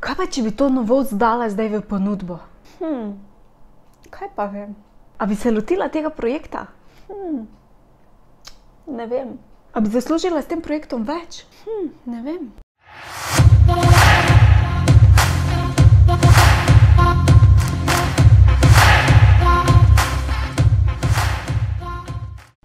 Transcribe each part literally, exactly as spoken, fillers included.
Kaj pa, če bi to novost dala zdaj v ponudbo? Hm, kaj pa vem? A bi se lotila tega projekta? Hm, ne vem. A bi zaslužila s tem projektom več? Hm, ne vem.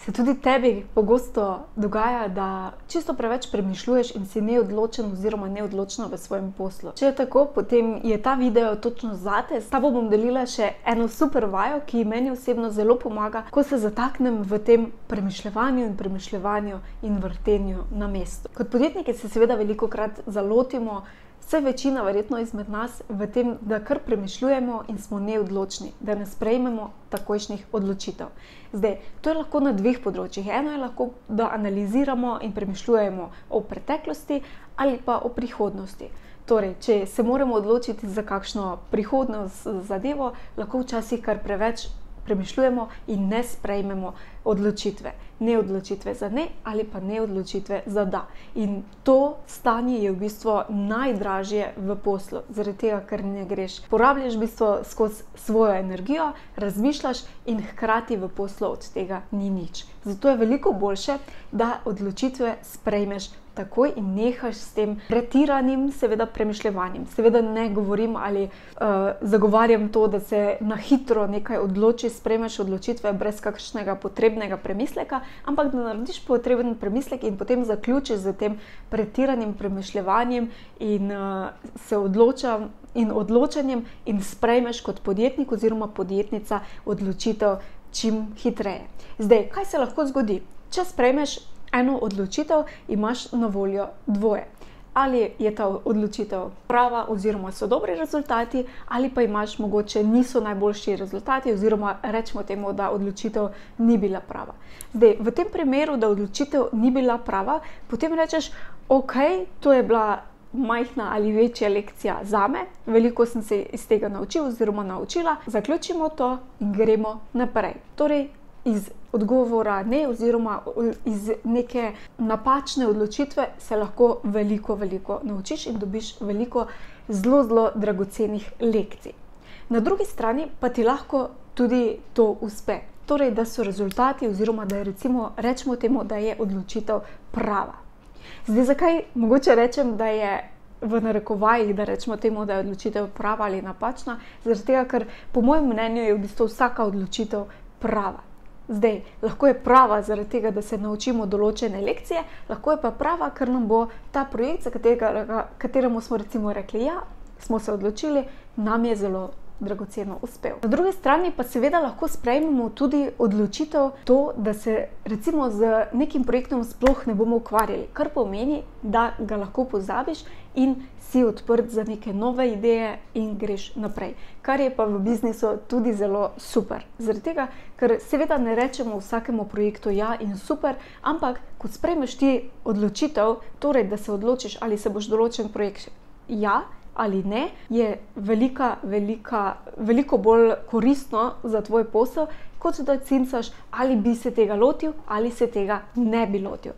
Se tudi tebi pogosto dogaja, da čisto preveč premišljuješ in si neodločen oziroma neodločna v svojem poslu? Če je tako, potem je ta video točno zate. S tabo bom delila še eno super vajo, ki meni osebno zelo pomaga, ko se zataknem v tem premišljevanju in premišljevanju in vrtenju na mestu. Kot podjetniki se seveda velikokrat zalotimo, vse večina verjetno izmed nas, v tem, da kar premišljujemo in smo neodločni, da ne sprejmemo takojšnjih odločitev. Zdaj, to je lahko na dveh področjih. Eno je lahko, da analiziramo in premišljujemo o preteklosti ali pa o prihodnosti. Torej, če se moramo odločiti za kakšno prihodnost zadevo, lahko včasih kar preveč premišljujemo in ne sprejmemo odločitve. Ne odločitve za ne ali pa ne odločitve za da. In to stanje je v bistvu najdražje v poslu, zaradi tega, ker ne greš. Porabljaš v bistvu skozi svojo energijo, razmišljaš in hkrati v poslu od tega ni nič. Zato je veliko boljše, da odločitve sprejmeš takoj in nehaš s tem pretiranim, seveda, premišljevanjem. Seveda ne govorim ali uh, zagovarjam to, da se na hitro nekaj odloči, sprejmeš odločitve brez kakšnega potrebnega premisleka, ampak da narediš potreben premislek in potem zaključiš z tem pretiranim premišljevanjem in uh, se odločam in odločanjem in sprejmeš kot podjetnik oziroma podjetnica odločitev čim hitreje. Zdaj, kaj se lahko zgodi? Če sprejmeš eno odločitev, imaš na voljo dvoje. Ali je ta odločitev prava oziroma so dobri rezultati, ali pa imaš mogoče niso najboljši rezultati oziroma rečemo temu, da odločitev ni bila prava. Zdaj, v tem primeru, da odločitev ni bila prava, potem rečeš, ok, to je bila majhna ali večja lekcija zame, veliko sem se iz tega naučil oziroma naučila, zaključimo to in gremo naprej. Torej, iz odgovora ne oziroma iz neke napačne odločitve se lahko veliko, veliko naučiš in dobiš veliko zelo, zelo dragocenih lekcij. Na drugi strani pa ti lahko tudi to uspe. Torej, da so rezultati oziroma da je recimo, rečemo temu, da je odločitev prava. Zdaj, zakaj mogoče rečem, da je v narekovajih, da rečemo temu, da je odločitev prava ali napačna? Zaradi tega, ker po mojem mnenju je v bistvu vsaka odločitev prava. Zdaj, lahko je prava zaradi tega, da se naučimo določene lekcije, lahko je pa prava, ker nam bo ta projekt, za katerega, kateremu smo recimo rekli ja, smo se odločili, nam je zelo dragoceno uspel. Na drugi strani pa seveda lahko sprejmemo tudi odločitev to, da se recimo z nekim projektom sploh ne bomo ukvarjali, kar pomeni, da ga lahko pozabiš in si odprt za neke nove ideje in greš naprej. Kar je pa v biznisu tudi zelo super. Zaradi tega, ker seveda ne rečemo vsakemu projektu ja in super, ampak ko sprejmeš ti odločitev, torej da se odločiš, ali se boš določen projekt ja ali ne, je velika, velika, veliko bolj koristno za tvoj posel, kot da cincaš, ali bi se tega lotil ali se tega ne bi lotil.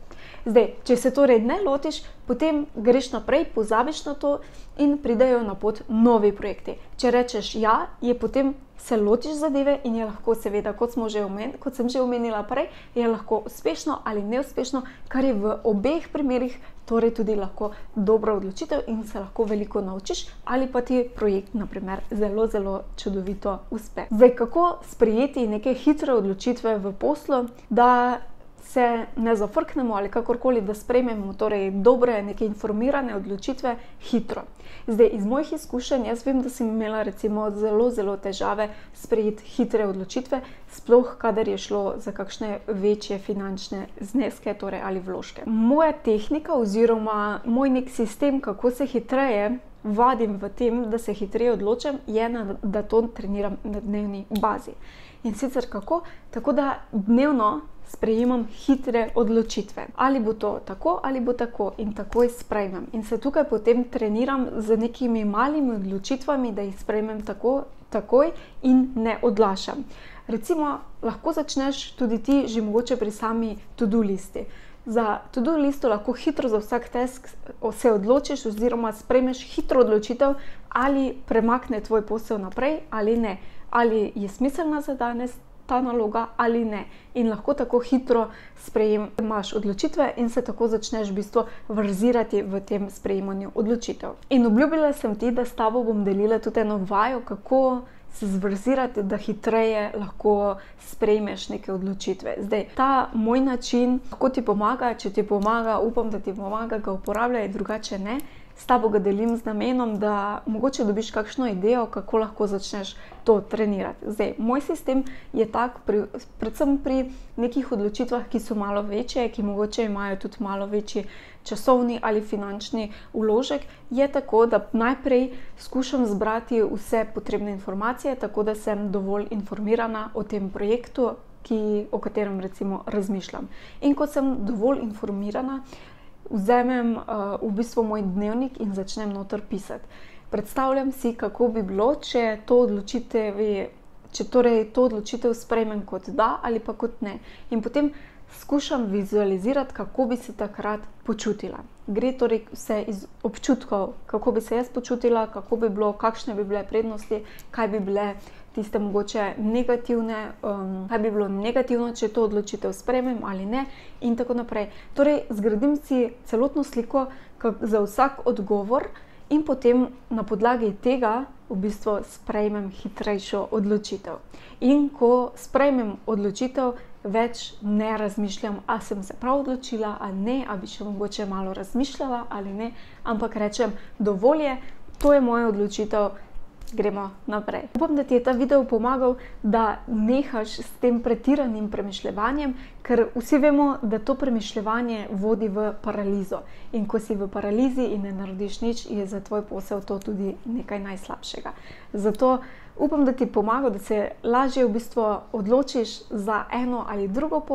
Zdaj, če se torej ne lotiš, potem greš naprej, pozabiš na to in pridejo na pot novi projekti. Če rečeš ja, je potem se lotiš zadeve in je lahko seveda, kot, smo že omen, kot sem že omenila prej, je lahko uspešno ali neuspešno, kar je v obeh primerih torej tudi lahko dobra odločitev in se lahko veliko naučiš ali pa ti projekt, na primer, zelo, zelo čudovito uspe. Zdaj, kako sprejeti neke hitre odločitve v poslu, da se ne zafrknemo ali kakorkoli, da sprejmemo torej dobre, neke informirane odločitve hitro. Zdaj, iz mojih izkušenj, jaz vem, da sem imela recimo zelo, zelo težave sprejeti hitre odločitve, sploh kadar je šlo za kakšne večje finančne zneske, torej ali vložke. Moja tehnika oziroma moj nek sistem, kako se hitreje vadim v tem, da se hitreje odločam, je, da to treniram na dnevni bazi. In sicer kako? Tako da dnevno sprejemam hitre odločitve. Ali bo to tako, ali bo tako in takoj sprejmem. In se tukaj potem treniram z nekimi malimi odločitvami, da jih sprejmem tako, takoj in ne odlašam. Recimo, lahko začneš tudi ti že mogoče pri sami to-do listi. za to-do listo lahko hitro za vsak task se odločiš oziroma sprejmeš hitro odločitev, ali premakne tvoj posel naprej ali ne. Ali je smiselna za danes ta naloga ali ne. In lahko tako hitro sprejemaš odločitve in se tako začneš v bistvu verzirati v tem sprejemanju odločitev. In obljubila sem ti, da s tabo bom delila tudi eno vajo, kako se zverzirati, da hitreje lahko sprejmeš neke odločitve. Zdaj, ta moj način lahko ti pomaga, če ti pomaga, upam, da ti pomaga, ga uporabljaj, drugače ne. S tabo ga delim z namenom, da mogoče dobiš kakšno idejo, kako lahko začneš to trenirati. Zdaj, moj sistem je tak, pri, predvsem pri nekih odločitvah, ki so malo večje, ki mogoče imajo tudi malo večji časovni ali finančni vložek, je tako, da najprej skušam zbrati vse potrebne informacije, tako da sem dovolj informirana o tem projektu, ki, o katerem recimo razmišljam. In ko sem dovolj informirana, vzamem uh, v bistvu moj dnevnik in začnem noter pisati. Predstavljam si, kako bi bilo, če to odločitev, če torej to odločitev sprejmem kot da ali pa kot ne. In potem skušam vizualizirati, kako bi se takrat počutila. Gre torej vse iz občutkov, kako bi se jaz počutila, kako bi bilo, kakšne bi bile prednosti, kaj bi bile tiste mogoče negativne, um, kaj bi bilo negativno, če to odločitev sprejmem ali ne in tako naprej. Torej, zgradim si celotno sliko za vsak odgovor in potem na podlagi tega v bistvu sprejmem hitrejšo odločitev. In ko sprejmem odločitev, več ne razmišljam, a sem se prav odločila ali ne, a bi še mogoče malo razmišljala ali ne, ampak rečem, dovolj je, to je moja odločitev, gremo naprej. Upam, da ti je ta video pomagal, da nehaš s tem pretiranim premišljevanjem, ker vsi vemo, da to premišljevanje vodi v paralizo. In ko si v paralizi in ne narediš nič, je za tvoj posel to tudi nekaj najslabšega. Zato upam, da ti pomaga, da se lažje v bistvu odločiš za eno ali drugo pot.